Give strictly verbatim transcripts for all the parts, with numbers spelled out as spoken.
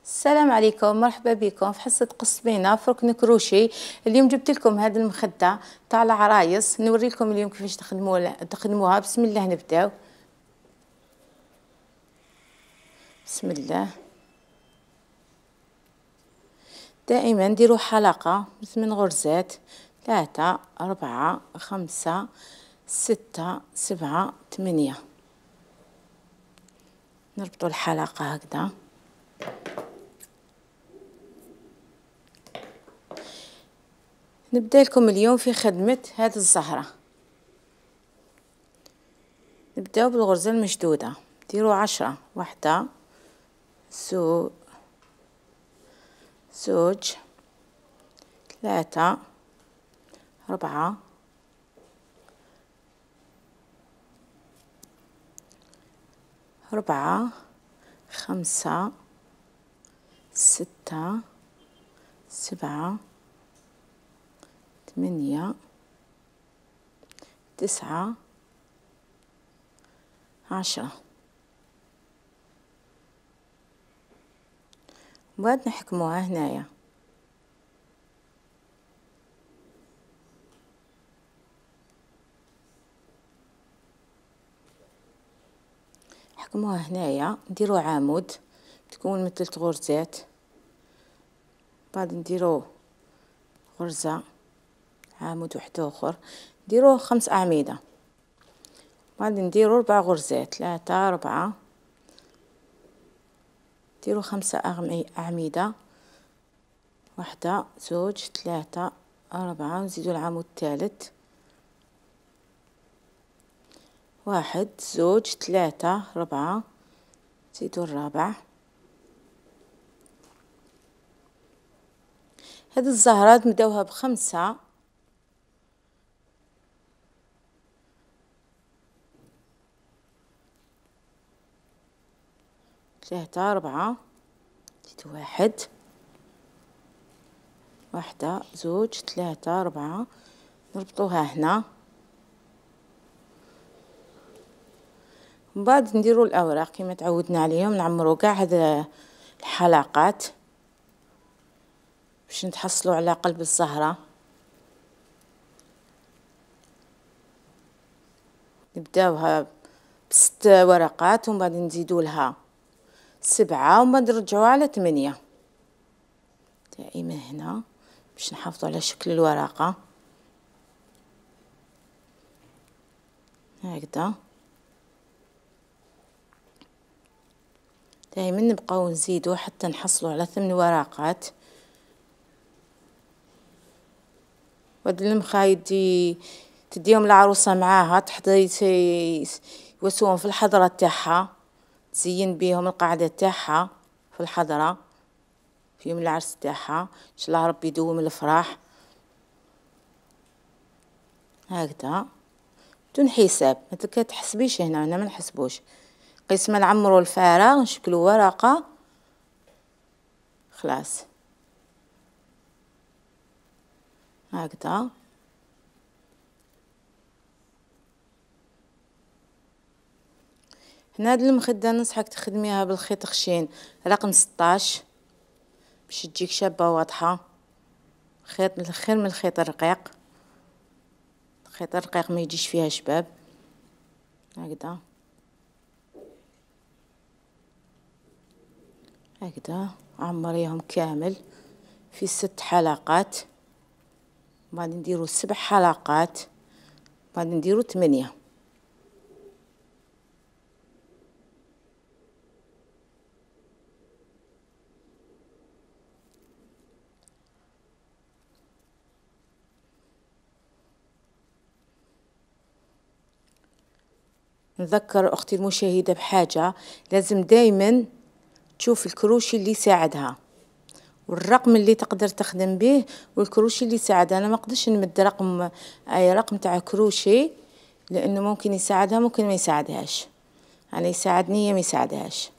السلام عليكم، مرحبا بكم في حصة قصبينة في ركن كروشي. اليوم جبت لكم هذه المخدة تاع العرايس، نوري لكم اليوم كيفاش تخدموا تخدموها. بسم الله نبداو. بسم الله. دائما نديروا حلقة من غرزات ثلاثة أربعة خمسة ستة سبعة ثمانية، نربطوا الحلقة هكذا. نبدأ لكم اليوم في خدمة هذه الزهرة. نبداو بالغرزة المشدودة، ديروا عشرة، واحدة زو زوج ثلاثة أربعة أربعة خمسة ستة سبعة ثمانية تسعة عشرة. وبعد نحكموها هنايا. نحكموها هنايا، نديرو عمود تكون من ثلاث غرزات، بعد نديرو غرزة عمود واحد اخر، نديروه خمس اعمدة، بعد نديرو ربع غرزات ثلاثة أربعة، نديرو خمسة أعمدة، واحدة زوج ثلاثة أربعة، ونزيدو العمود الثالث، واحد زوج ثلاثة أربعة، نزيدو الرابع. هذه الزهرة نبداوها بخمسة ثلاثة أربعة، نزيدو واحد، واحدة زوج ثلاثة أربعة، نربطوها هنا، من بعد نديرو الأوراق كما تعودنا عليهم، نعمرو كاع هذا الحلقات باش نتحصلوا على قلب الزهرة. نبداوها بست ورقات، ومن بعد نزيدو لها سبعة، ومن بعد نرجعوها على ثمانية، دائما هنا باش نحافظوا على شكل الورقة هكذا. دائما نبقاو نزيدو حتى نحصلوا على ثمان ورقات. وهاد المخايد تديهم العروسة معاها تحضي يوسوهم في الحضرة تاعها، تزين بيهم القاعدة تاعها في الحضرة في يوم العرس تاعها، ان شاء الله ربي يدوم الافراح هكذا بدون حساب. ما تحسبيش هنا، هنا ما نحسبوش، قيس ما نعمروا الفراغ نشكلوا ورقة خلاص هكذا. هنا هاد المخدة ننصحك تخدميها بالخيط خشين رقم ستاش باش تجيك شابة واضحة. خيط خير من الخيط الرقيق، الخيط الرقيق ما يجيش فيها شباب هكذا هكذا. عمريهم كامل في ست حلقات، بعد نديرو سبع حلقات، بعد نديرو ثمانية. نذكر اختي المشاهدة بحاجة، لازم دايما تشوف الكروشي اللي يساعدها والرقم اللي تقدر تخدم به والكروشي اللي يساعدها. انا ما نقدرش نمد رقم اي رقم تاع كروشي لانه ممكن يساعدها ممكن ما يساعدهاش، انا يساعدني هي ما يساعدهاش،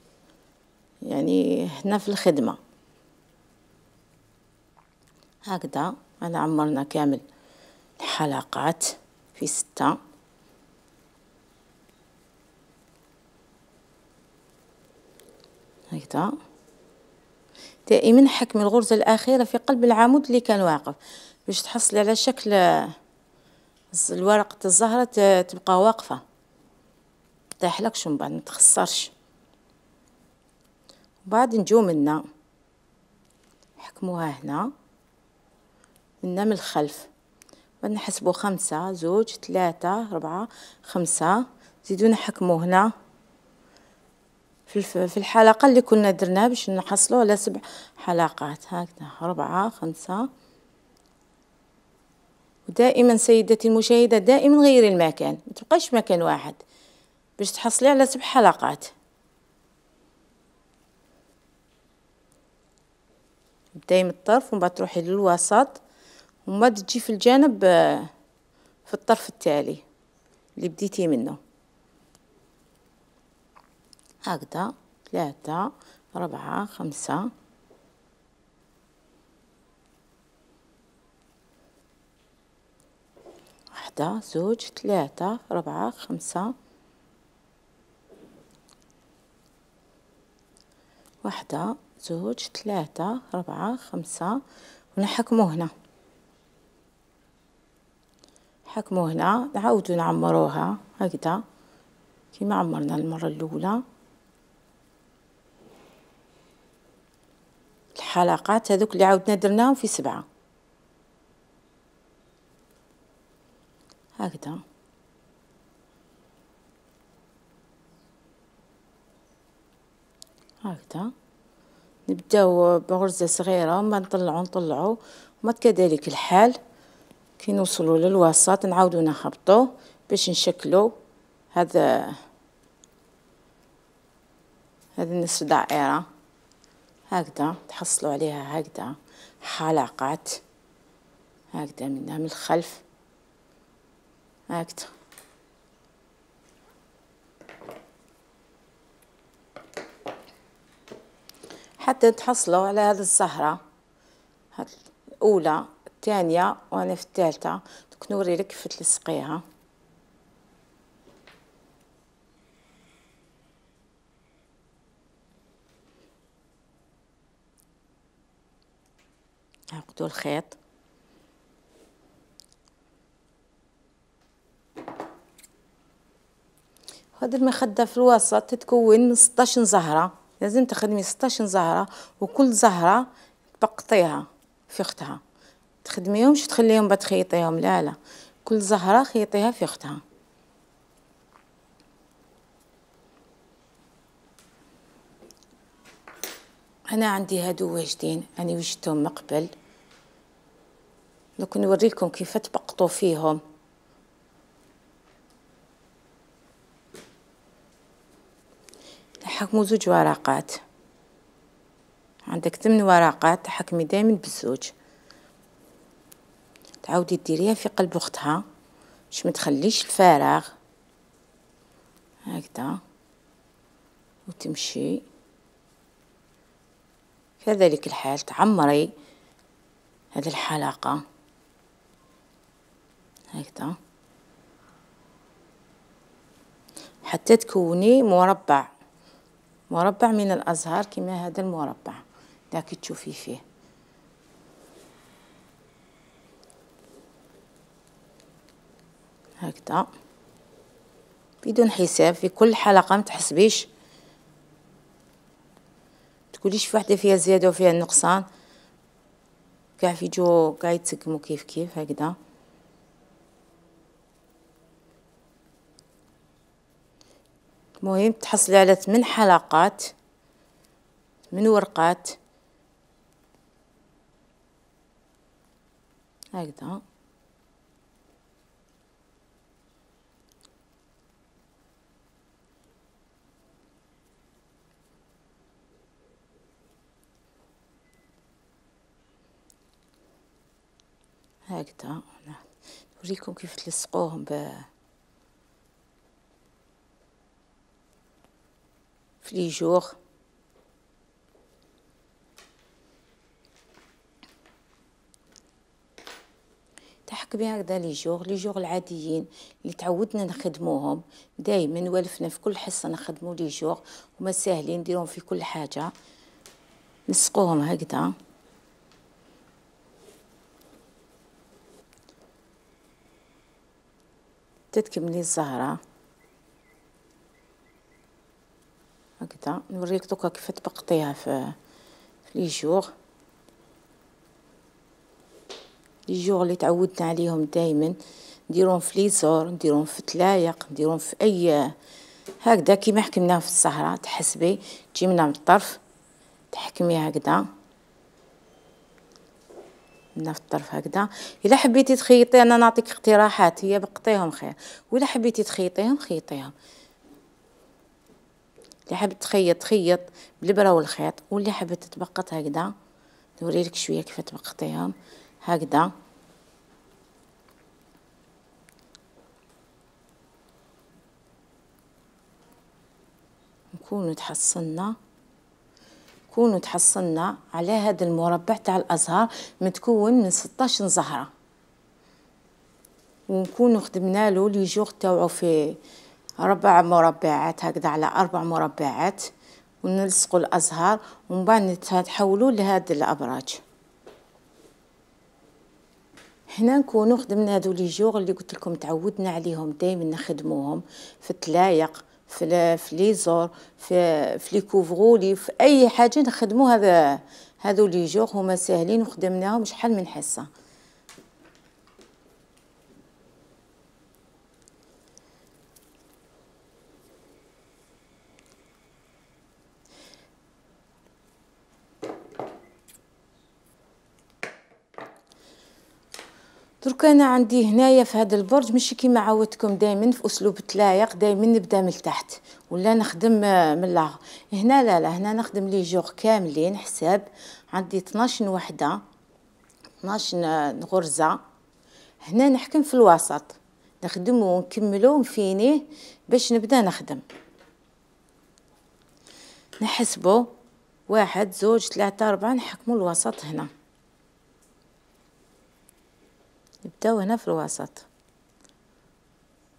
يعني هنا في الخدمة هكذا. انا عمرنا كامل الحلقات في ستة هكذا. دائما حكمي الغرزة الأخيرة في قلب العمود اللي كان واقف باش تحصلي على شكل الورقة الزهرة تبقى واقفة مطيحلكش ومن بعد متخسرش. وبعد نجو منا نحكموها هنا منا من الخلف، بعد نحسبو خمسة زوج ثلاثة ربعة خمسة، زيدو نحكمو هنا في في الحلقة اللي كنا درناها باش نحصلو على سبع حلقات. هكذا ربعة خمسة. ودائما سيدتي المشاهدة دائما غيري المكان، ما تبقايش في مكان واحد باش تحصلي على سبع حلقات. تبداي من الطرف ومن بعد تروحي للوسط ومن بعد تجي في الجانب في الطرف التالي اللي بديتي منه. هكذا ثلاثة ربعة خمسة، واحدة زوج ثلاثة ربعة خمسة، واحدة زوج ثلاثة ربعة خمسة، ونحكمو هنا حكمو هنا نعاودو نعمروها هكذا كيما عمرنا المرة الأولى. الحلقات هذوك اللي عاودنا درناهم في سبعة هكذا. هكذا نبداو بغرزة صغيرة وما نطلعو نطلعو وما كذلك الحال كي نوصلوا للوسط نعاودو نهبطوه باش نشكلو هذا هذا النصف دائرة هكذا تحصلوا عليها هكذا حلقات هكذا منها من الخلف هكذا. حتى تحصلوا على هذه الزهرة الأولى الثانية وأنا في الثالثة دوك نوري لك كيف تلصقيها. عقدوا الخيط هذا المخدة في الوسط تتكون من ستاش زهرة، لازم تخدمي ستاش زهرة وكل زهرة تبقطيها في اختها، تخدميهمش تخليهم بعد تخيطيهم، لا لا كل زهرة خيطيها في اختها. انا عندي هادو واجدين اني وجدتهم من قبل، دوك نوريلكم كيف تبقطوا فيهم. تحكموا زوج ورقات، عندك ثمن ورقات تحكمي دائما بالزوج، تعاودي ديريها في قلب اختها باش ما تخليش الفراغ هكذا وتمشي كذلك الحال تعمري هذه الحلقة هكذا حتى تكوني مربع مربع من الأزهار كما هذا المربع داك تشوفي فيه. هكذا بدون حساب في كل حلقة ما تحسبيش تقوليش في وحده فيها زيادة وفيها نقصان، كاع في جو كاع يتسقموا كيف كيف هكذا. المهم تحصلي على ثمان حلقات من ورقات هكذا. هكذا نوريكم كيف تلصقوهم ب في لي جور. تحكمي هكذا لي جور لي جور العاديين اللي تعودنا نخدموهم دائما، والفنا في كل حصه نخدموا لي جور هما ساهلين نديرهم في كل حاجه. نلصقوهم هكذا. تتكملي الزهرة هكذا. نوريك دوكا كيف تبقطيها في في لي جوغ لي جوغ اللي تعودنا عليهم دائما، نديروهم في ليزور، نديروهم في تلايق، نديروهم في اي هكذا كيما حكمناه في الزهرة. تحسبي تجي منها من الطرف تحكميها هكذا من في الطرف هكذا. الا حبيتي تخيطي انا نعطيك اقتراحات، هي بقطيهم خير، ولا حبيتي تخيطيهم خيطيهم. اللي حاب تخيط تخيط بالبرة والخيط، واللي حابه تتبقط هكذا نوريلك شويه كيف تبقطيهم هكذا. نكونوا تحصلنا نكونوا تحصلنا على هذا المربع تاع الازهار متكون من ستاش زهره، ونكونوا خدمنا له لي جوغ تاوعو في ربع مربعات هكذا على اربع مربعات، ونلصقوا الازهار ومن بعد نتحولوا لهاد الابراج. هنا نكونوا خدمنا هذو لي جوغ اللي قلت لكم تعودنا عليهم دائما نخدموهم في التلايق، في في ليزور، في في لي كوفغولي، في اي حاجه نخدموا هذا هذو لي جوغ هما ساهلين وخدمناهم شحال من حصه. درك انا عندي هنايا في هذا البرج ماشي كيما عودتكم دائما في اسلوب التلايق، دائما نبدا من التحت ولا نخدم من الاخر. هنا لا لا، هنا نخدم لي جوغ كاملين حساب. عندي اثناش وحده، اثناش غرزه. هنا نحكم في الوسط، نخدمو ونكملو ونفينيه باش نبدا نخدم. نحسبو واحد زوج ثلاثه اربعه، نحكمو الوسط هنا، نبداو هنا في الوسط.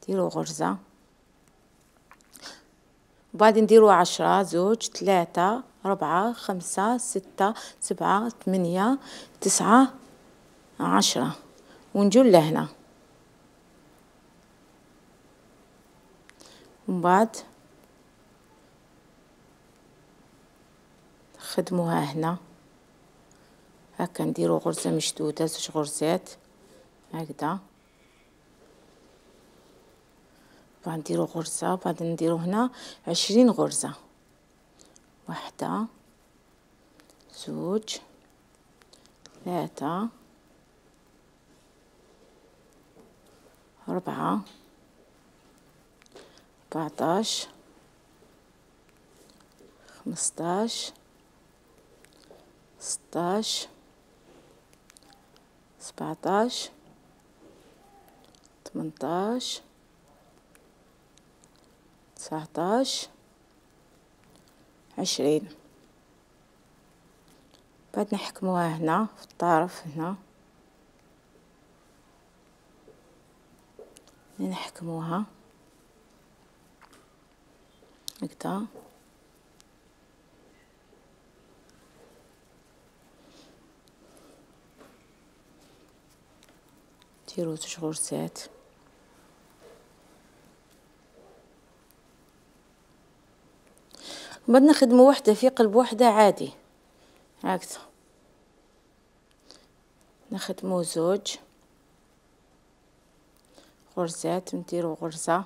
نديرو غرزة وبعدين نديرو عشرة، زوج ثلاثة أربعة خمسة ستة سبعة ثمانية تسعة عشرة، ونجو لهنا. ومن بعد نخدموها هنا هكا، نديرو غرزة مشدودة، زوج غرزات هكذا، بعد نديرو غرزة، بعد نديرو هنا عشرين غرزة. واحدة زوج ثلاثة أربعة أربعتاش خمسطاش ستاش سبعتاش ثمنتاش تسعتاش عشرين. بعد نحكموها هنا في الطرف هنا، نحكموها هكذا. نديرو زوج غرزات، بعد نخدمو وحده في قلب وحده عادي هكذا. نخدمو زوج غرزات، نديرو غرزة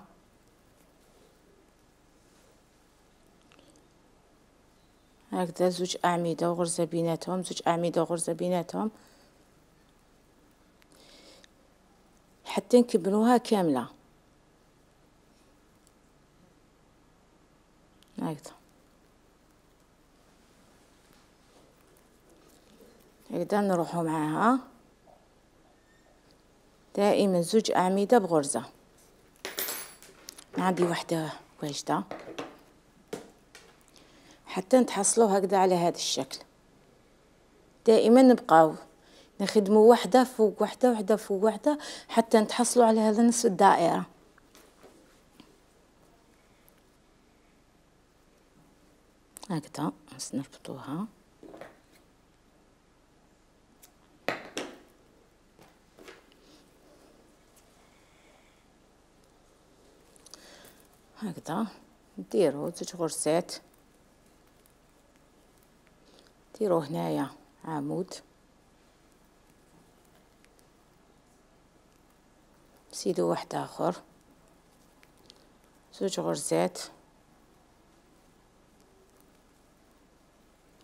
هكذا، زوج أعمدة وغرزة بيناتهم، زوج أعمدة وغرزة بيناتهم حتى نكملوها كاملة هكذا. هكذا نروحو معاها دائما زوج أعمدة بغرزة. عندي وحدة واجدة حتى نتحصلو هكذا على هذا الشكل. دائما نبقاو نخدمو وحده فوق وحده، وحده فوق وحده، حتى نتحصلو على هذا نصف الدائرة هكذا. نربطوها هكذا نديرو زوج غرزات، ديرو هنايا عمود، نزيدو واحد اخر زوج غرزات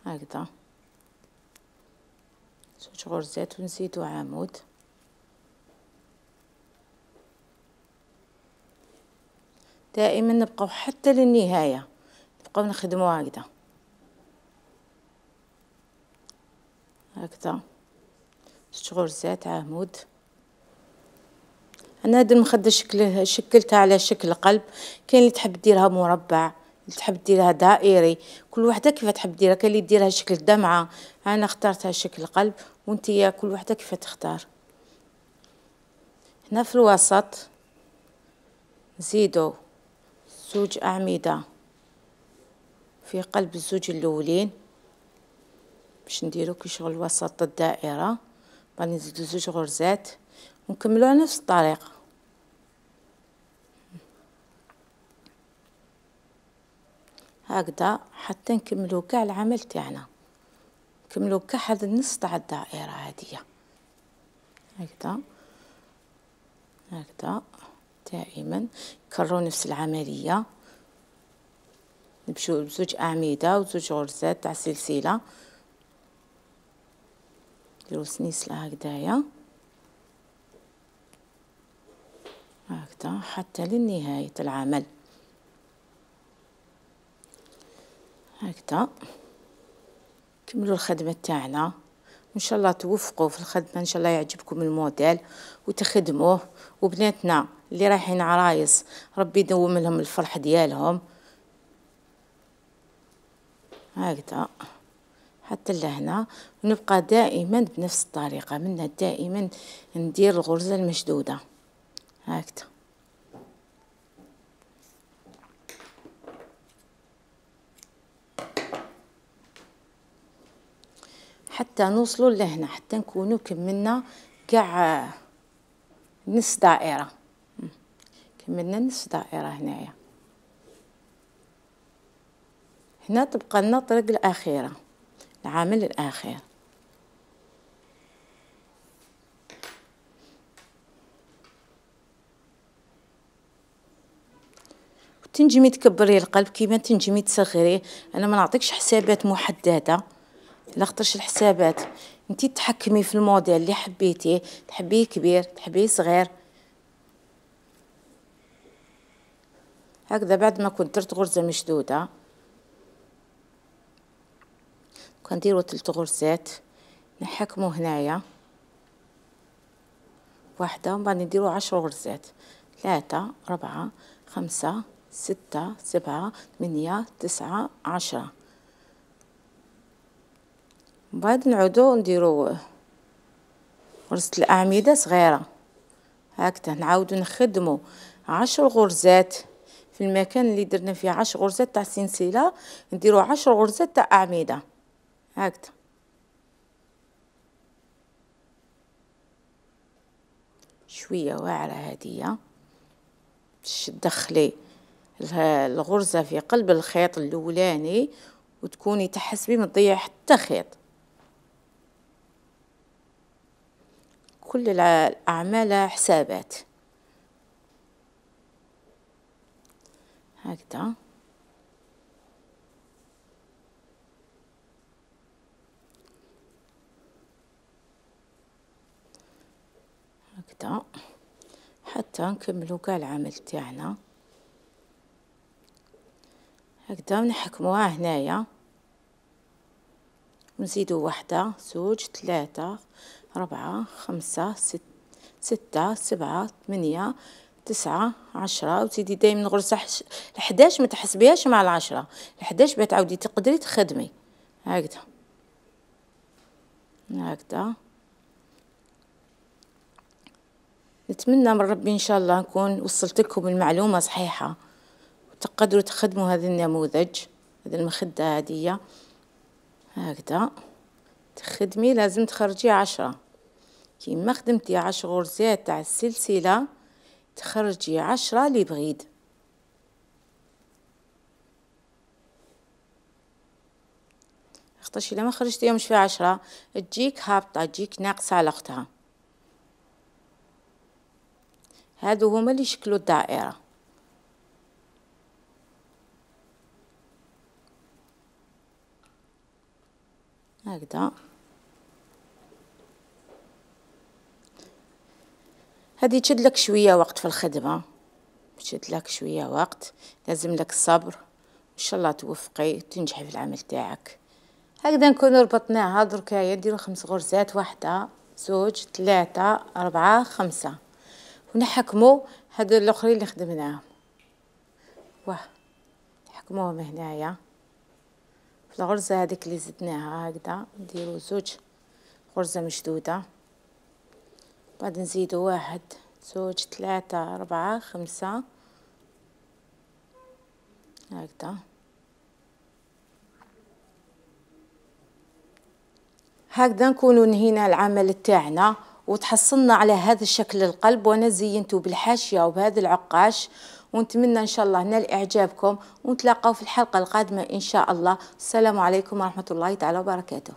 هكذا، زوج غرزات ونزيدو عمود، دائما نبقاو حتى للنهاية نبقاو نخدمو هكذا هكذا، زوج غرزات عمود. انا هاد المخدة شكله شكلتها على شكل قلب، كاين اللي تحب ديرها مربع، اللي تحب ديرها دائري، كل وحده كيف تحب ديرها، كاين اللي ديرها شكل دمعة، انا اخترتها شكل قلب وانتيا كل وحده كيف تختار. هنا في الوسط نزيدو زوج اعمدة في قلب الزوج الاولين باش نديرو كي شغل وسط الدائرة، بعد نزيدو زوج غرزات ونكملو على نفس الطريقة هكذا حتى نكملو كاع العمل تاعنا، نكملو كاع هذا النص تاع الدائرة هادية هكذا هكذا. دائما نكررو نفس العملية، نمشيو بزوج اعمدة وزوج غرزات تاع سلسلة، نديرو سنيسلة هكذايا هكذا حتى لنهاية العمل هكذا. كملوا الخدمة تاعنا وان شاء الله توفقوا في الخدمة، ان شاء الله يعجبكم الموديل وتخدموه، وبناتنا اللي رايحين عرايس ربي يدوم لهم الفرح ديالهم هكذا حتى لهنا. ونبقى دائما بنفس الطريقة، منا دائما ندير الغرزة المشدودة هكذا حتى نوصلوا لهنا، حتى نكونوا كملنا كاع نص دائرة، كملنا نص دائرة هنايا. هنا تبقى لنا الطريق الأخيرة، العامل الأخير. تنجمي تكبري القلب كيما تنجمي تصغريه، انا ما نعطيكش حسابات محدده، لا خطرش الحسابات انتي تحكمي في الموديل اللي حبيتيه، تحبيه كبير تحبيه صغير هكذا. بعد ما كنت درت غرزه مشدوده كنديروا ثلاث غرزات نحكموا هنايا واحده، ومن بعد نديروا عشر غرزات، ثلاثة أربعة خمسة ستة سبعة ثمانية تسعة عشرة، من بعد نعودو نديرو غرزة الأعمدة صغيرة هكذا، نعاودو نخدمو عشر غرزات في المكان اللي درنا فيه عشر غرزات تاع سلسلة، نديرو عشر غرزات تاع أعمدة هكذا. شوية واعرة هادية باش تدخلي الغرزة في قلب الخيط الأولاني وتكوني تحسبي ما تضيعي حتى خيط. كل الأعمال حسابات هكذا هكذا حتى نكملو كاع العمل تاعنا هكذا، ونحكموها هنايا ونزيدو واحدة زوج ثلاثة أربعة خمسة ست ستة سبعة ثمانية تسعة عشرة، وتزيدي دايما غرزة الحداش ما تحسبيهاش مع العشرة، الحداش بتعاودي تقدري تخدمي هكذا هكذا. نتمنى من ربي ان شاء الله نكون وصلت لكم المعلومة صحيحة وتقدروا تخدموا هذا النموذج، هذه المخدة هذه هكذا. تخدمي لازم تخرجي عشرة، كيما خدمتي عشر غرزات تاع السلسلة تخرجي عشرة لبغيد خاطرش الا ما خرجتيهمش في عشرة تجيك هابطة، تجيك ناقصة على اختها. هادو هما اللي يشكلوا الدائرة. هكذا. هذه تشد لك شوية وقت في الخدمة، تشد لك شوية وقت، لازم لك الصبر، ان شاء الله توفقي وتنجحي في العمل تاعك. هكذا نكونوا ربطناها. دركايا نديرو خمس غرزات، واحدة زوج ثلاثة أربعة خمسة، ونحكمو هادو الاخرين اللي خدمناهم. واه نحكموهم هنايا في الغرزة هذيك اللي زدناها. هكذا نديرو زوج غرزة مشدودة، بعد نزيدو واحد زوج ثلاثة أربعة خمسة هكذا. هكذا نكونوا نهينا العمل تاعنا وتحصلنا على هذا الشكل القلب، وانا زينته بالحاشية وبهذا العقاش، ونتمنى ان شاء الله نال اعجابكم، ونتلاقاو في الحلقة القادمة ان شاء الله. السلام عليكم ورحمة الله تعالى وبركاته.